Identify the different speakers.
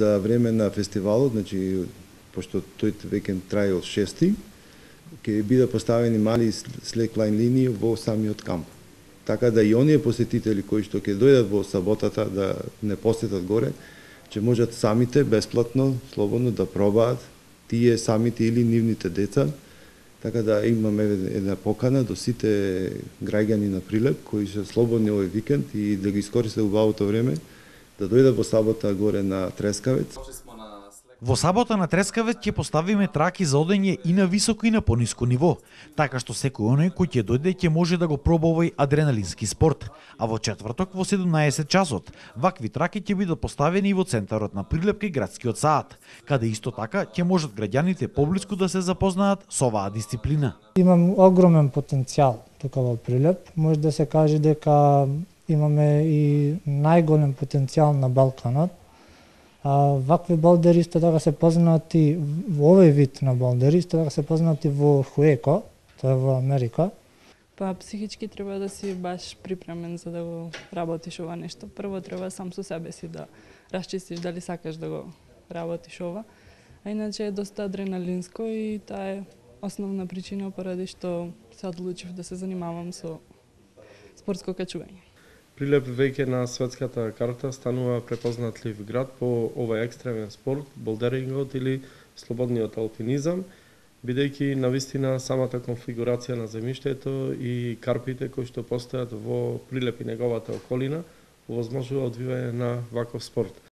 Speaker 1: за време на фестивалот, значи пошто тој викенд трае од 6, ќе бидат поставени мали слеклайн линии во самиот камп. Така да и оние посетители кои што ќе дојдат во саботата да не посетат горе, ќе можат самите бесплатно, слободно да пробаат тие самите или нивните деца. Така да имаме една покана до сите граѓани на Прилеп кои се слободни овој викенд и да ги искористат убавото време да дојдат во сабота горе на Трескавец.
Speaker 2: Во сабота на Трескавец ќе поставиме траки за одење и на високо и на пониско ниво, така што секој оној кој ќе дојде ќе може да го проба овој адреналински спорт. А во четврток во 17 часот вакви траки ќе бидат поставени и во центарот на Прилеп кај градскиот саат, каде исто така ќе можат граѓаните поблиску да се запознаат со оваа дисциплина.
Speaker 3: Имам огромен потенцијал тука во Прилеп. Може да се каже дека имаме и најголем потенцијал на Балканот. Вакви болдери исто така се познати во овој вид на болдери, исто така се познати во Хуеко, тоа е во Америка.
Speaker 4: Па психички треба да си баш припремен за да го работиш ова нешто. Прво треба сам со себе си да расчистиш дали сакаш да го работиш ова. А иначе е доста адреналинско и таа е основна причина поради што се одлучив да се занимавам со спортско качување.
Speaker 5: Прилеп веќе на светската карта станува препознатлив град по овој екстремен спорт, болдерингот или слободниот алпинизам, бидејќи навистина самата конфигурација на земјиштето и карпите кои што постојат во Прилеп и неговата околина овозможува одвивање на ваков спорт.